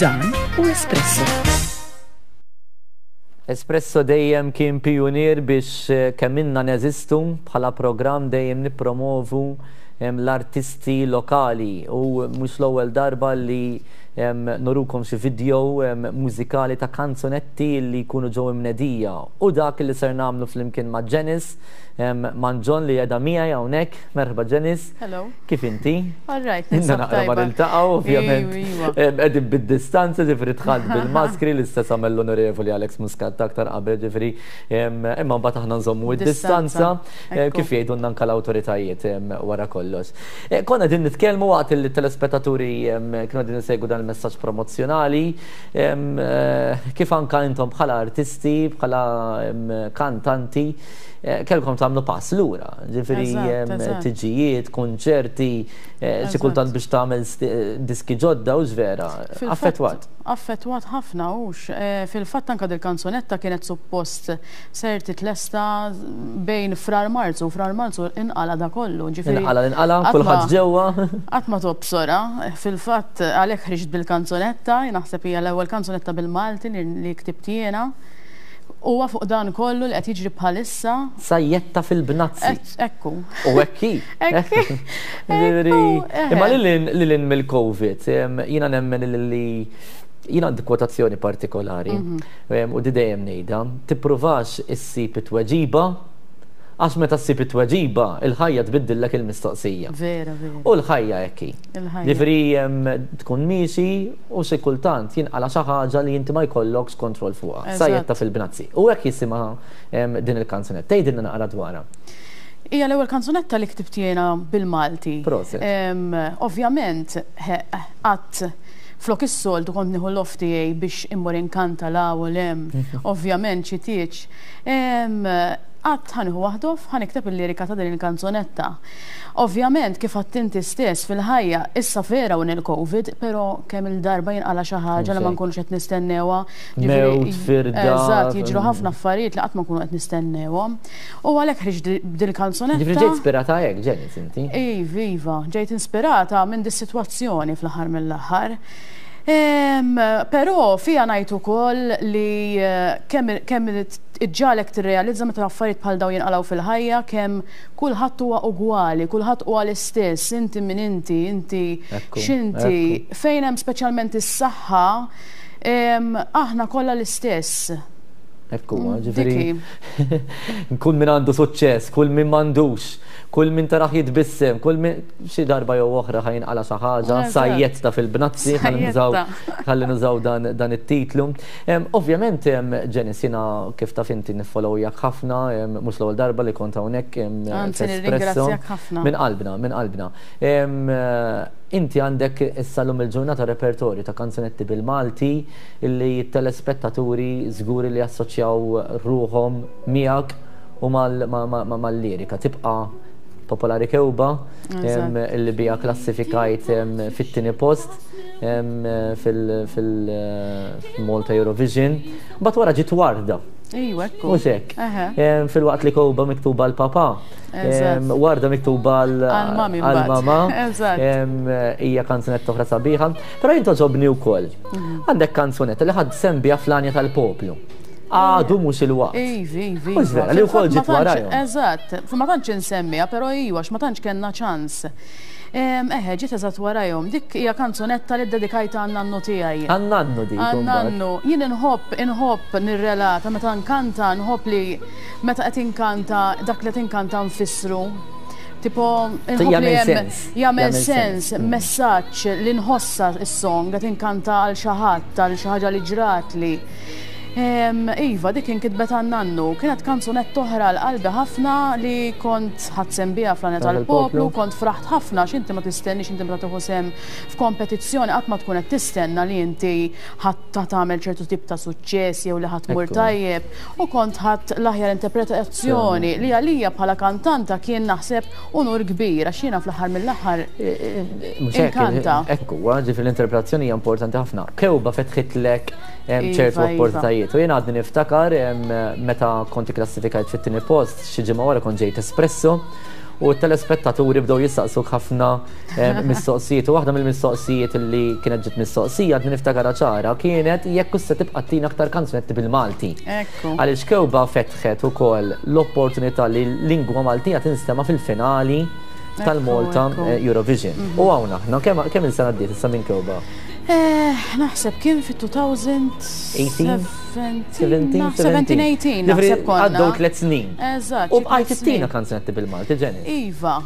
Dan hu Espresso. Espresso dejjem kien pijunier biex kemm ilna neżistu bħala programm dejjem nippromovu l-artisti lokali u mhux l-ewwel darba li nurukom xi video mużikali ta' kanzunetti li jkunu ġew imnedija. U dak li ser nagħmlu flimkien ma' Janice Manġon li qiegħda miegħi hawnhekk. Merħba Janice. Hello. Kif inti? All right, Inna naqra ma niltaqgħu, ovvjament. Iva. Qegħdin bid-distanza, ġifieri dħalt bil-maskri l-istess għamel l-Onorevoli Alex Muscat aktar qabel, ġifieri imma mbagħad aħna nżommu id-distanza kif jgħidulna anke l-awtoritajiet wara kollox. Konna qegħdin nitkellmu waqt li t-telespettaturi kienu qegħdin isegwu dan il-messaġġ promozzjonali kif anke intom bħala artisti, bħala kantanti kellkom tagħmlu pass lura, ġifieri tiġijiet, kunċerti, xi kultant biex tagħmel diski ġodda u vera, affettwat. Affettwat ħafna hux. Fil-fatt anke dil-kanzunetta kienet suppost ser titlesta bejn Frar Marzu, Frar Marzu inqala da kollu, ġifieri. Inqala inqala, kulħadd ġewwa. Qatt ma tobsora, fil-fatt għalhekk ħriġt bil-kanzunetta, naħseb hija l-ewwel kanzunetta bil-Malti li ktibt jiena. Huwa fuq dan kollu li qed jiġri bħalissa. Sajjetta fil-bnazzi. Ekku. U hekk hi. Imma lil hinn mill-Covid, jiena nemmen li jiena għandi kwotazzjoni partikolari u di dejjem ngħidha, tippruvax issib it-tweġiba għax meta ssib it-tweġiba, il-ħajja tbiddillek il-mistoqsija. Vera, vera. U l-ħajja hekk hi. Ġifieri tkun miexi u xi kultant jinqala' xi ħaġa li inti ma jkollokx kontroll fuqha. Sajjetta fil-bnazzi. U hekk jisimha din il-kanzunetta. Tgħidilna naqra dwarha. Hija l-ewwel kanzunetta li ktibt jiena bil-Malti. Proset. Ovvjament, qatt flok is-soltu kont nieħu l-off tiegħi biex immur inkanta 'l hawn u 'l hemm. Ovvjament xi tieġ. Għadt ħa nieħu waħda off, ħa nikteb il-lirika ta' din il-kanzunetta. Ovvjament, kif għadt inti stess, fil-ħajja, issa vera hawn il-Covid, però kemm-il darba jinqala' xi ħaġa li ma nkunux qed nistennewha. Mewt, firda. Eżatt, jiġru ħafna affarijiet li qatt ma nkunu qed nistennewhom. U għalhekk ħriġt b'dil-kanzunetta. Ġifieri ġejt ispirata hekk, Janice, inti? Iva, iva, ġejt inspirata minn dis-sitwazzjoni fl-aħħar mill-aħħar. Però fiha ngħid ukoll li kemm kemm iġġagħlek tirrealizza meta affarijiet bħal dawn jinqalgħu fil-ħajja kemm kulħadd huwa ugwali, kulħadd huwa l-istess, inti min inti, inti x'inti, fejn hemm speċjalment is-saħħa, aħna kollha l-istess. Ekku, ġifieri. Kull min għandu suċċess, kull min m'għandux, kull min taraħ jitbissem, kull min xi darba jew oħra ħa jinqala' xi ħaġa, sajjetta fil-bnazzi, ħalli nużaw dan it-titlu. Ovvjament, Janice, jiena kif taf inti niffollowjak ħafna, mhux l-ewwel darba li kont hawnhekk. Anzi, nirringrazzjak ħafna. Minn qalbna, minn qalbna. Inti għandek issa llum il-ġurnata repertorju ta' kanzunetti bil-Malti illi t-telespettaturi żgur li jassoċjaw ruħhom miegħek u mal-lirika. Tibqa' Popolari Kewba illi biha klassifikajt fit-tieni post fil-Malta Eurovision. Mbagħad wara ġiet Warda. Ejwa, ekku. Mhux hekk. Filwaqt li Kewba miktuba l-papa. Warda miktuba għal-mama. Hija kanzunetta oħra sabiħa. Però jien toġobni wkoll. Għandek kanzunetta li ħadd sehem biha fl-għanja tal-poplu. Għadu mhux il-waqt. Ivi, ivi. Mhux vera, li wkoll ġiet warajhom. Eżatt, ma tantx insemmiha, però iva, ma tantx kellna ċans. Eħe, ġiet eżatt warajhom. Dik hija kanzunetta li ddedikajtha għan-nannu tiegħi. Għan-nannu dik. Għan-nannu. Jien inħobb, inħobb nirrelata meta nkanta, nħobb li meta qed inkanta dak li qed inkanta nfissru. Tipo, inħobb li hemm jagħmel sens, messaġġ li nħossha s-song qed inkanta għal xi ħadd, għal xi ħaġa li ġratli. Iva, dik inkitbet għan-nannu. Kienet kanzunetta oħra għal qalbi ħafna li kont ħadt sehem biha fl-Għanja tal-Poplu, kont fraħt ħafna għax inti ma tistenniex inti meta tieħu sehem f'kompetizzjoni qatt ma tkun qed tistenna li inti ħa tagħmel ċertu tip ta' suċċess jew li ħa tmur tajjeb. U kont ħadt l-aħjar interpretazzjoni li għalija bħala kantanta kien naħseb unur kbir għax jiena fl-aħħar mill-aħħar inkanta. Ekku, ġifieri l-interpretazzjoni hija importanti ħafna. Kewba fetħitlek ċertu iva, iva. opportunitajiet. U jien għadni niftakar meta kont ikklassifikajt fit-tieni post, xi ġimgħa wara kont ġejt Espresso. u t-telespettaturi bdew jistaqsuk ħafna mistoqsijiet. U waħda mill-mistoqsijiet li kienet ġiet mistoqsija għadni niftakarha ċara kienet jekk se tibqa' tina aktar kanzunetti bil-Malti. Għaliex Kewba fetħet ukoll l-opportunità li l-lingwa Maltija tinstema' fil-finali tal-Malta Eurovision. U hawn aħna, kemm il-sena għaddiet issa minn Kewba? Naħseb kien fit-2017, 17, naħseb konna. Għaddew 3 snin. Eżatt. U bqajt ittina kanzunetti bil-Malti, Janice. Iva,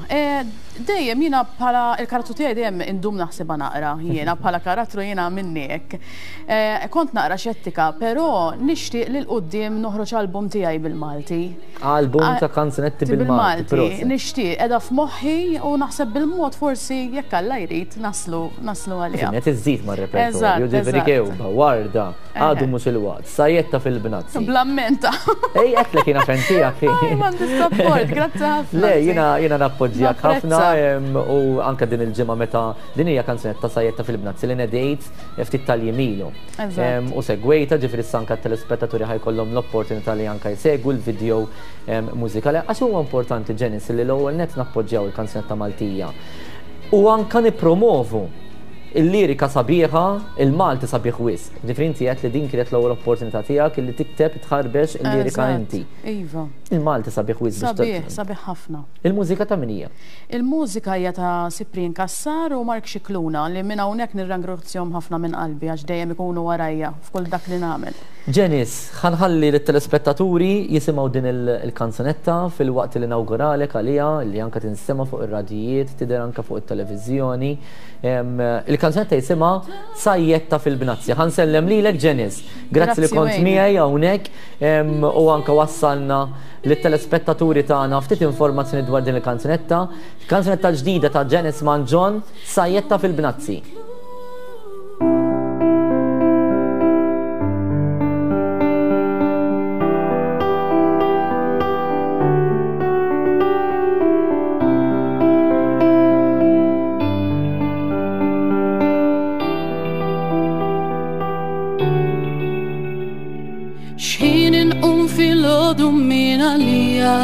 dejjem jiena bħala il-karattru tiegħi dejjem indum naħsibha naqra, jiena bħala karattru jiena minni hekk. Kont naqra xettika, però nixtieq li l-quddiem noħroġ album tiegħi bil-Malti. Album ta' kanzunetti bil-Malti. Nixtieq, qiegħda f'moħħi u naħseb bil-mod forsi jekk Alla jrid naslu naslu għaliha. Qed iżżid mar-repertorju, ġifieri kewba, warda, għadu mhux il-waqt, sajjetta fil-bnazzi. Blammenta. Ej, għedtlek jiena fan tiegħek. M'għandi support, grazzi ħafna. Le, jiena jiena nappoġġjak ħafna u anke din il-ġimgħa meta din hija kanzunetta sajjetta fil-bnazzi li nedejt ftit tal-jiem ilu. U segwejta, ġifieri issa anke t-telespettaturi ħajkollhom l-opportunità li anke jsegwu l-video mużikali. Għax huwa importanti, Janice, li l-ewwel nett nappoġġjaw il-kanzunetta Maltija. U anke nippromovu il-lirika sabiħa, il-Malti sabiħ wisq. Ġifieri inti għedt li din kienet l-ewwel opportunità tiegħek li tikteb tħarbex il-lirika inti. Iva. Il-Malti sabiħ wisq. Sabiħ, sabiħ ħafna. Il-mużika ta' min hija? Il-mużika hija ta' Cyprian Cassar u Mark Scicluna li minn hawnhekk nirrangrazzjahom ħafna minn qalbi għax dejjem ikunu warajja f'kull dak li nagħmel. Janice, ħa nħalli lit-telespettaturi jisimgħu din il-kanzunetta filwaqt li nawguralek għaliha li anke tinstema' fuq ir-radjijiet, tidher anke fuq it-televiżjoni. Il-kanzunetta jisimha Sajjetta fil-Bnazzi. Ħa nsellem lilek Janice. Grazzi li kont miegħi hawnhekk u anke wassalna lit-telespettaturi tagħna ftit informazzjoni dwar din il-kanzunetta. Kanzunetta ġdida ta' Janice Mangion, Sajjetta fil-Bnazzi. Xħin inqum filgħodu min għalija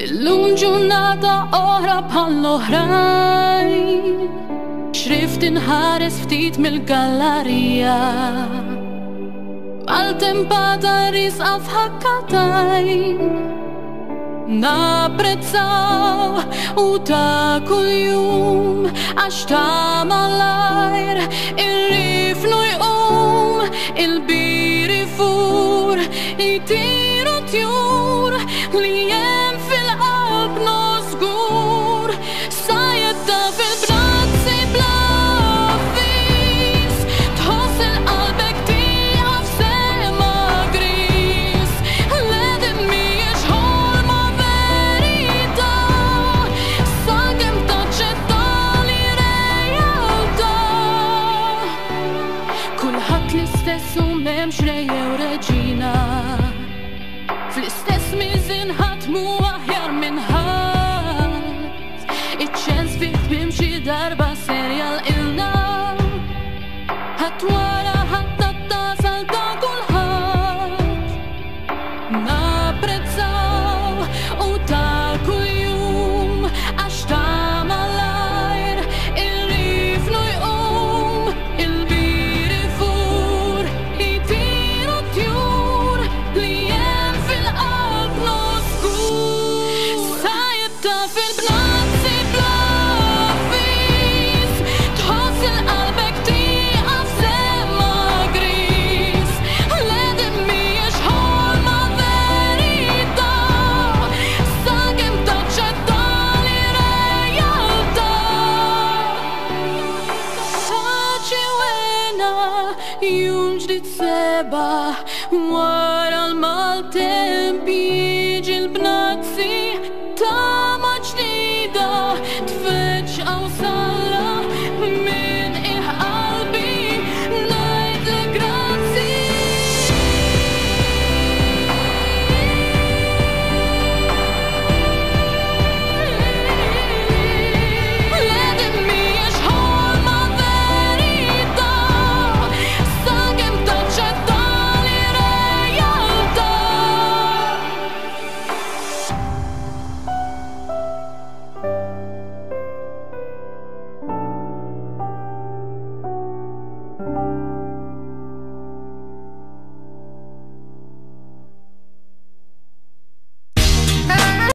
L-lum ġurnata oħra bħall-oħrajn Xrift inħares ftit mill-gallarija Maltempata risqa f'ħakkatajn Napprezzaw u ta' kuljum għax ta' malajr ir-rifnu jqum il-bir ifur jtiru tjur li hemm fil-qalb żgur sajjetta fil-bnazzi bla avviż tħoss il-qalbek tieqaf sema griż le din mhijiex ħolma verità sakemm taċċetta li realtà kulħadd l-istess u m'hemmx re jew reġina fl-istess miżien ħadd mhu aħjar minn ħadd iċ-ċens fi tmiem xi darba ser jalqilna ħadd wara ħadd tasal ta' kulħadd napprezzaw u ta' kuljum għax ta' malajr ir-rifnu jqum il-bir ifur jtiru tjur li hemm fil-qalb żgur sajjetta fil-bnazzi bla avviż tħoss il-qalbek tieqaf sema griż le din mhijiex ħolma verità sakemm taċċetta li realtà paċi u hena jum ġdid sebaħ wara l-maltemp.